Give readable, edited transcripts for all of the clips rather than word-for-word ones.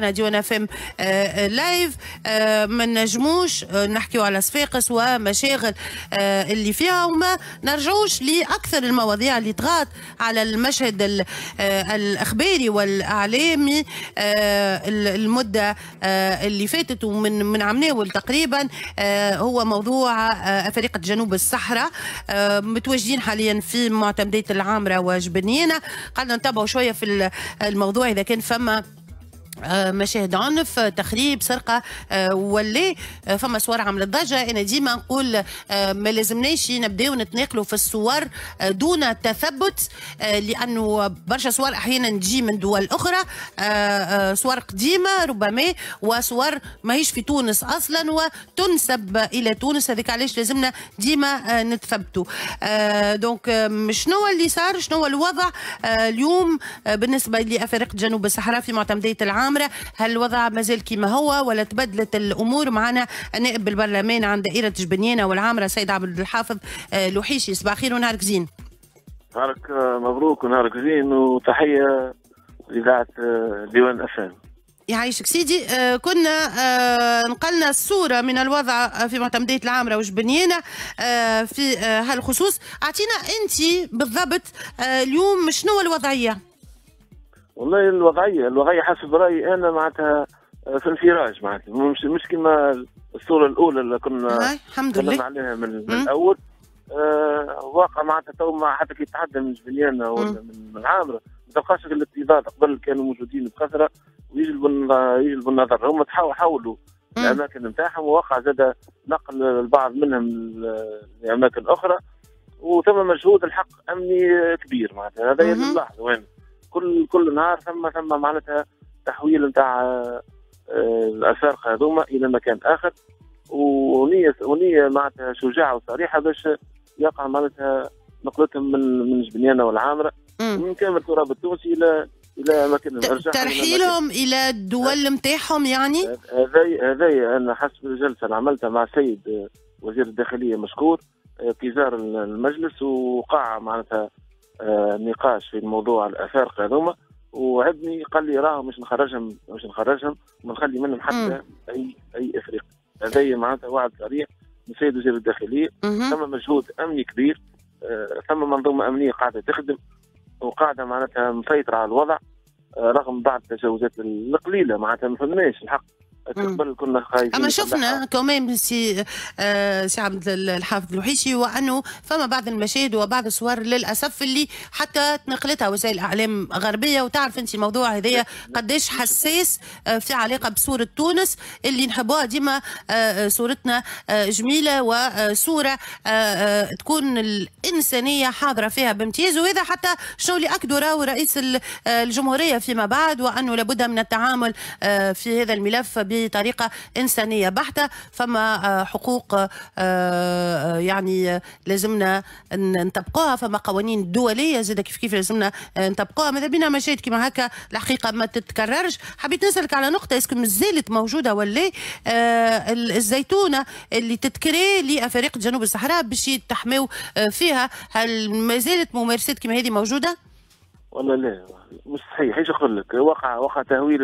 نتاعنا ديوان FM live. ما نجموش نحكيو على صفاقس ومشاغل اللي فيها وما نرجعوش لاكثر المواضيع اللي طغات على المشهد الاخباري والاعلامي المدة اللي فاتت ومن عمناول تقريبا، هو موضوع افارقه جنوب الصحراء متواجدين حاليا في معتمديه العامره وجبنيانه. قعدنا نتابعوا شوية في الموضوع اذا كان فما مشاهد عنف، تخريب، سرقه، ولا فما صور عملت ضجه. انا ديما نقول ما لازمناش نبداو نتناقلوا في الصور دون تثبت، لانه برشا صور احيانا تجي من دول اخرى، صور قديمة ربما وصور ماهيش في تونس اصلا وتنسب الى تونس. هذاك علاش لازمنا ديما نتثبتوا. donc شنو اللي صار، شنو الوضع اليوم بالنسبة لافارقه جنوب الصحراء في معتمديه العامره؟ هل الوضع مازال كما هو ولا تبدلت الامور؟ معنا النائب بالبرلمان عن دائرة جبنيانه والعامره سيد عبد الحافظ لوحيشي. صباح الخير ونهارك زين. نهارك مبروك ونهارك زين، وتحية لاذاعة ديوان FM. يعيشك سيدي. كنا نقلنا الصورة من الوضع في معتمدية العامرة وجبنيانة في هالخصوص. أعطينا أنت بالضبط اليوم شنو الوضعية؟ والله الوضعية حسب رأيي أنا معناتها في انفراج، معناتها مش كما الصورة الأولى اللي كنا تكلمنا عليها من الأول. واقع معناتها تو حتى كي تتعدى من جبليانة ولا من العامرة ما تلقاش الاكتظاظ. قبل كانوا موجودين بكثرة ويجلبوا النظر، هم حاولوا الأماكن نتاعهم، ووقع زاد نقل البعض منهم لأماكن أخرى، وثم مجهود الحق أمني كبير معناتها. هذا اللي نلاحظه وين كل نهار ثم معناتها تحويل نتاع الافارقة هذوما الى مكان اخر، ونيه معناتها شجاعة وصريحة باش يقع معناتها نقلتهم من جبنيانه والعامره من كامل التراب التونسي الى اماكن ترحيلهم الى الدول نتاعهم. يعني هذا انا حسب الجلسة اللي عملتها مع السيد وزير الداخلية مشكور في زار المجلس، وقع معناتها نقاش في الموضوع الافارقة هذوما، وعدني قال لي راه مش نخرجهم ونخلي منهم حتى اي افريقي. هذا معناتها وعد صريح من السيد وزير الداخلية. ثم مجهود امني كبير، ثم منظومة امنية قاعدة تخدم وقاعدة معناتها مسيطرة على الوضع، رغم بعض التجاوزات القليلة معناتها ما فهمناش الحق. قبل كنا خايفين، اما شفنا كمان سي عبد الحافظ الوحيشي وانه فما بعض المشاهد وبعض الصور للاسف اللي حتى تنقلتها وسائل اعلام غربية، وتعرف انت الموضوع هذايا قداش حساس في علاقة بصورة تونس اللي نحبوها ديما، صورتنا جميلة وصوره تكون الانسانية حاضره فيها بامتياز. وهذا حتى شنو اللي اكدوا راهو رئيس الجمهورية فيما بعد، وانه لابد من التعامل في هذا الملف بطريقة إنسانية بحتة. فما حقوق يعني لازمنا نطبقوها، فما قوانين دولية زاد كيف لازمنا نطبقوها. ماذا بينا مشاهد كيما هكا الحقيقة ما تتكررش. حبيت نسألك على نقطة، est-ce que مازالت موجودة ولا الزيتونة اللي تتكري لأفارقة جنوب الصحراء باش يتحموا فيها، هل مازالت ممارسات كيما هذه موجودة؟ والله لا مش صحيح. ايش نقول لك، وقع تهويل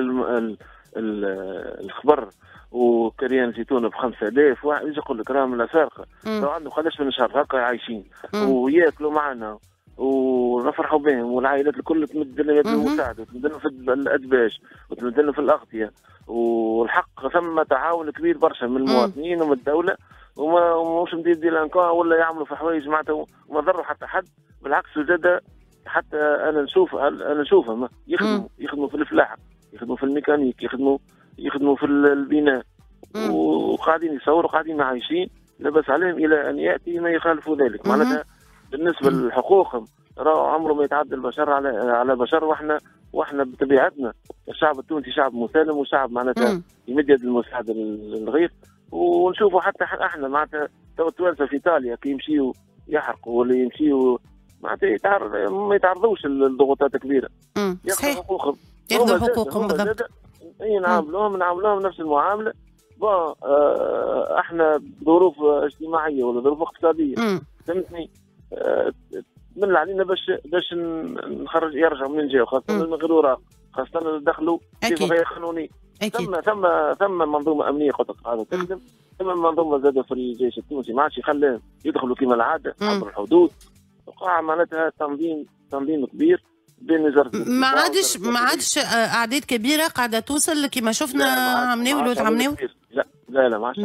الخبر وكريان زيتون ب 5000. ايش نقول لك، راهم الافارقة لو عندهم قداش من شهر هكا عايشين وياكلوا معنا ونفرحوا بهم، والعائلات الكل تمد لنا يد المساعدة وتمد لنا في الادباش وتمد لنا في الاغطيه. والحق ثم تعاون كبير برشا من المواطنين ومن الدولة، ومش مدير délinquants ولا يعملوا في حوايج معناتها وما ضروا حتى حد. بالعكس زاد حتى انا نشوفهم يخدموا في الفلاحة، يخدموا في الميكانيك، يخدموا في البناء، وقاعدين يصوروا وقاعدين عايشين لاباس عليهم الى ان ياتي ما يخالف ذلك. معناتها بالنسبة لحقوقهم راهو عمره ما يتعدى البشر على بشر، واحنا بطبيعتنا الشعب التونسي شعب مسالم وشعب معناتها يمد يد المساعدة للغير. ونشوفوا حتى احنا معناتها تو التوانسة في ايطاليا كي يمشيوا يحرقوا ولا يمشيوا معناتها ما يتعرضوش لضغوطات كبيرة، ياخذوا حقوقهم، ياخذوا حقوقهم بالضبط. اي نعاملوهم نفس المعاملة. bon احنا ظروف اجتماعية ولا ظروف اقتصادية فهمتني، من علينا باش نخرج يرجعوا من جاو، خاصة من غير اوراق، خاصة دخلوا بصفة غير قانونية. ثم منظومة امنية قلت قاعدة تخدم، ثم منظومة زاده في الجيش التونسي ما عادش يخليهم يدخلوا كما العادة عبر الحدود. وقع معناتها تنظيم كبير بين وزارة ما عادش اعداد كبيرة قاعدة توصل كما شفنا عمناول وعمناول. لا لا لا ما عادش.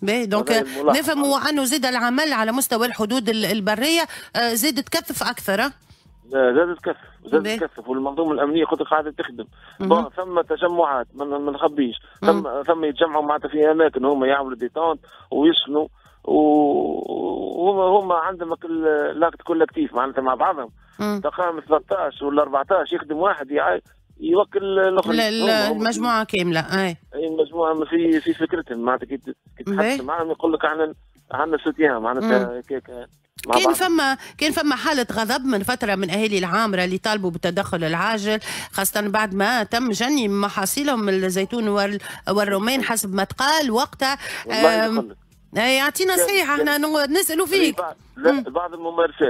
باهي donc نفهموا انه زاد العمل على مستوى الحدود البرية زاد تكثف اكثر. لا زاد تكثف والمنظومه الامنية قلت قاعدة تخدم. ثم تجمعات ما نخبيش، ثم يتجمعوا معناتها في اماكن هما يعملوا des tentes ويسكنوا، وهما عندهم l'acte collectif معناتها مع بعضهم. تقام 13 ولا 14 يخدم واحد يوكل الاخرين، المجموعة كاملة. اي المجموعة في فكرتهم معناتها كي تتحدث معاهم يقول لك احنا عندنا سوتيان معناتها كيك. كان فما حالة غضب من فترة من أهالي العامرة اللي طالبوا بالتدخل العاجل، خاصة بعد ما تم جني محاصيلهم الزيتون والرومان حسب ما تقال وقتها. يعطينا صحيح، احنا نسألوا فيك. لا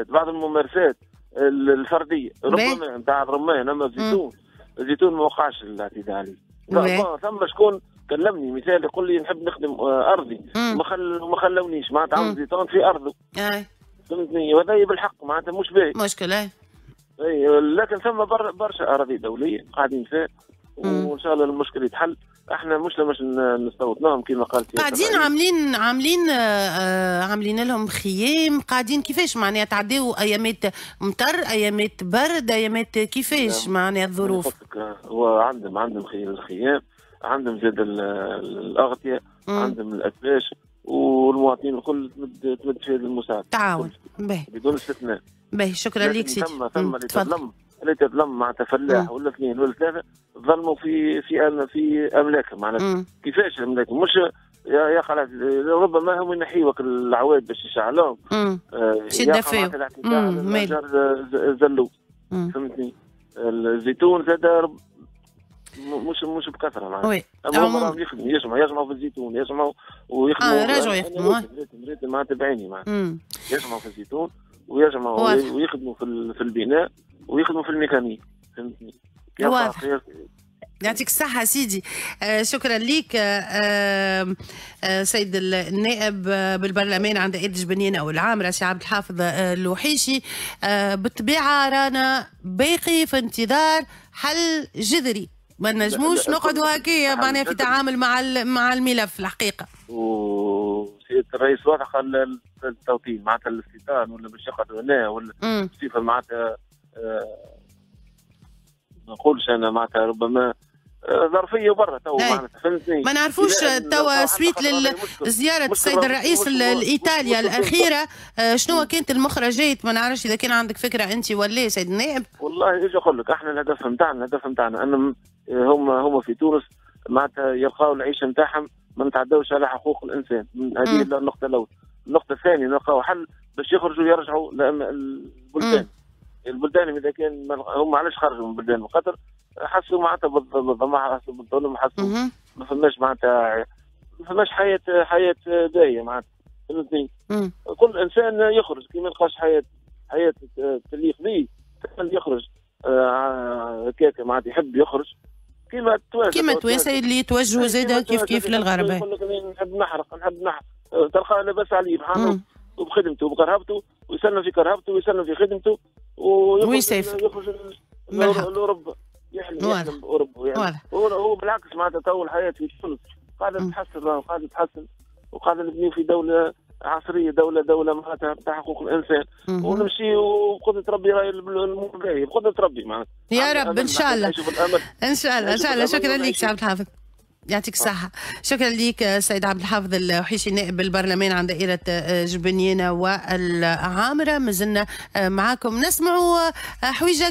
بعض الممارسات الفردية ربما نتاع الرمان، اما الزيتون ما وقعش الاعتداء عليه. ثم شكون كلمني مثال يقول لي نحب نخدم ارضي، ما خلونيش معناتها عمل زيتون في ارضه. فهمتني، وهذا بالحق معناتها مش باهي، مشكلة. اي لكن ثم برشا اراضي دولية قاعدين فيها، وان شاء الله المشكل يتحل. احنا مش باش نستوطناهم كما قالت. قاعدين عاملين لهم خيام، قاعدين كيفاش معناها تعديو ايامات مطر، ايامات برد، ايامات كيفاش معناها الظروف؟ هو عندهم الخيام، عندهم زاد الاغطيه، عندهم الاكباش، والمواطنين الكل تمد في هذه المساعدة. تعاون بدون استثناء. باهي شكرا لك سيدي. ثم اللي تظلم معناتها فلاح ولا اثنين ولا ثلاثة ظلموا في في في املاكهم معناتها. كيفاش املاكهم؟ مش يا خلاص ربما هم ينحيوك العواد باش يشعلوهم. باش يدفيو. زلوا. فهمتني؟ الزيتون زاد مش بكثرة معناتها. اما هم يخدموا يجمعوا في الزيتون، يجمعوا ويخدموا. راجعوا يخدموا. ريت معناتها بعيني معناتها. يجمعوا في الزيتون ويجمعوا ويخدموا في البناء ويخدموا في الميكانيك. فهمتني؟ واضح. يعطيك الصحة سيدي. شكرا لك سيد النائب بالبرلمان عند دائرة جبنيانة والعامرة سي عبد الحافظ الوحيشي. بالطبيعة رانا باقي في انتظار حل جذري، ما نجموش نقعدوا هكايا معناها في تعامل مع الملف الحقيقة. وسيادة الرئيس واضح التوطين معناتها الاستيطان ولا باش يقعدوا هنا ولا بصفة معناتها ما نقولش انا معناتها ربما ظرفيه برا تو معناتها فهمتني. ما نعرفوش توا suite لزيارة السيد الرئيس لايطاليا الاخيرة شنو كانت المخرجات، ما نعرفش اذا كان عندك فكرة انت ولا سيد النائب. والله ايش نقول لك، احنا الهدف نتاعنا ان هما في تونس معناتها يلقاو العيشة نتاعهم، ما نتعداوش على حقوق الانسان، هذه النقطة الاولى. النقطة الثانية نلقاو حل باش يخرجوا يرجعوا البلدان. البلدان اذا كان هم علاش خرجوا من بلدان قطر؟ حسوا معناتها بالظلم، حسوا بالظلم، حسوا ما فماش معناتها ما فماش حياة باهيه معناتها، فهمتني؟ كل انسان يخرج كي ما يلقاش حياة تليق به يخرج هكاك معناتها يحب يخرج كيما التوانسة، كيما التوانسة اللي يتوجهوا زاده كيف كيف للغرب. يقول لك نحب نحرق تلقاه لاباس عليه بحاله وبخدمته وبكرهبته، ويسلم في كرهبته ويسلم في خدمته ويسافر يخرج لاوروبا، يحلم باوروبا يعني. هو بالعكس معناتها تو الحياة في تونس قاعدة تتحسن، قاعدة تتحسن، وقاعدة نبني في دولة عصرية، دولة معناتها تاع حقوق الانسان، ونمشي وبقدره ربي راهي الامور باهيه بقدره ربي معناتها. يا رب ان شاء الله ان شاء الله ان شاء الله. شكرا لك سي عبد الحافظ، يعطيك الصحة. شكرا لك سيد عبد الحافظ الوحيشي نائب البرلمان عن دائرة جبنيانة والعامرة. مازلنا معاكم نسمعوا حويجة.